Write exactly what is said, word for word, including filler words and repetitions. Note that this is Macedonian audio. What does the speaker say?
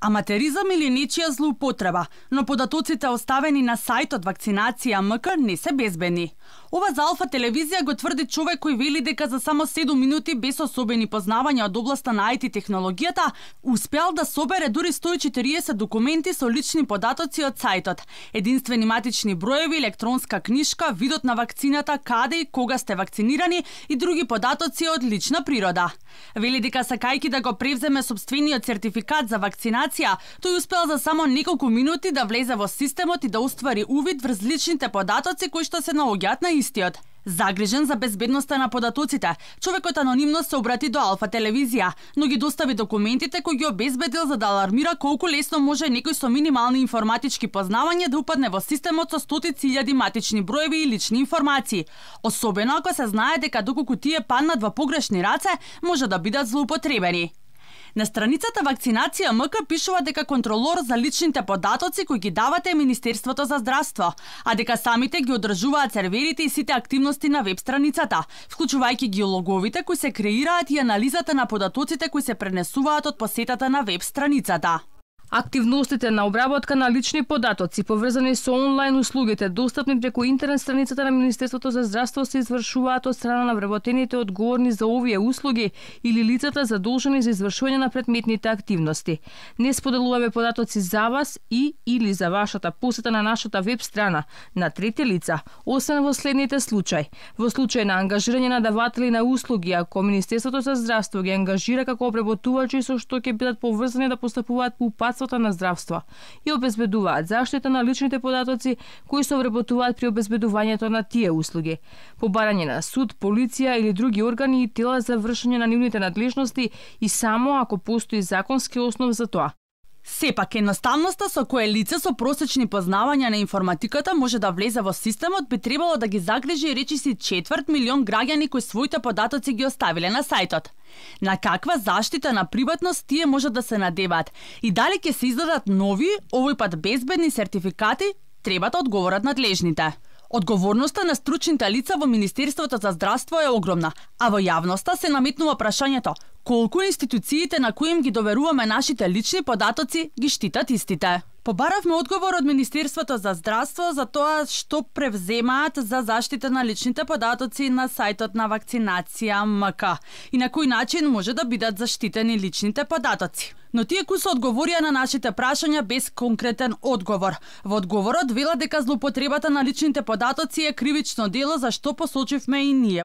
Аматеризам или нечија злоупотреба, но податоците оставени на сајтот Вакцинација МК не се безбедни. Ова за Алфа телевизија го тврди човек кој вели дека за само седум минути без особени познавања од областа на ай ти технологијата успеал да собере дури сто и четириесет документи со лични податоци од сајтот, единствени матични броеви, електронска книшка, видот на вакцината, каде и кога сте вакцинирани и други податоци од лична природа. Вели дека сакајќи да го превземе сопствениот сертификат за вакцинација, тој успел за само неколку минути да влезе во системот и да оствари увид врз личните податоци кои што се наоѓаат на истиот. Загрижен за безбедноста на податоците, човекот анонимно се обрати до Алфа телевизија, но ги достави документите кои ги обезбедил за да алармира колку лесно може некој со минимални информатички познавања да упадне во системот со стотици илјади матични броеви и лични информации. Особено ако се знае дека доколку тие паднат во погрешни раце, може да бидат злоупотребени. На страницата Вакцинација МК пишува дека контролор за личните податоци кои ги давате е Министерството за здравство, а дека самите ги одржуваат серверите и сите активности на веб страницата, вклучувајќи геологовите кои се креираат и анализата на податоците кои се пренесуваат од посетата на веб страницата. Активностите на обработка на лични податоци поврзани со онлайн услугите достапни преку интернет страницата на Министерството за здравство се извршуваат од страна на вработените одговорни за овие услуги или лицата задолжени за извршување на предметните активности. Не споделуваме податоци за вас и или за вашата посета на нашата веб страна на трети лица, освен во следните случаи. Во случај на ангажирање на даватели на услуги, ако Министерството за здравство ги ангажира како обработувачи со што ќе бидат поврзани да постапуваат по упатството на здравство и обезбедуваат заштита на личните податоци кои се обработуваат при обезбедувањето на тие услуги, по барање на суд, полиција или други органи и тела за вршење на нивните надлежности и само ако постои законски основ за тоа. Сепак, едноставноста со која лице со просечни познавања на информатиката може да влезе во системот би требало да ги загрижи речиси четврт милион граѓани кои своите податоци ги оставиле на сајтот. На каква заштита на приватност тие може да се надеваат и дали ќе се издадат нови, овој пат безбедни сертификати, треба да одговорат надлежните. Одговорноста на стручните лица во Министерството за здравство е огромна, а во јавноста се наметнува прашањето колку институциите на кои им ги доверуваме нашите лични податоци ги штитат истите. Побаравме одговор од Министерството за здравство за тоа што превземаат за заштита на личните податоци на сајтот на Вакцинација МК и на кој начин може да бидат заштитени личните податоци. Но тие кои се одговорија на нашите прашања без конкретен одговор. Во одговорот вела дека злоупотребата на личните податоци е кривично дело за што посочивме и ние.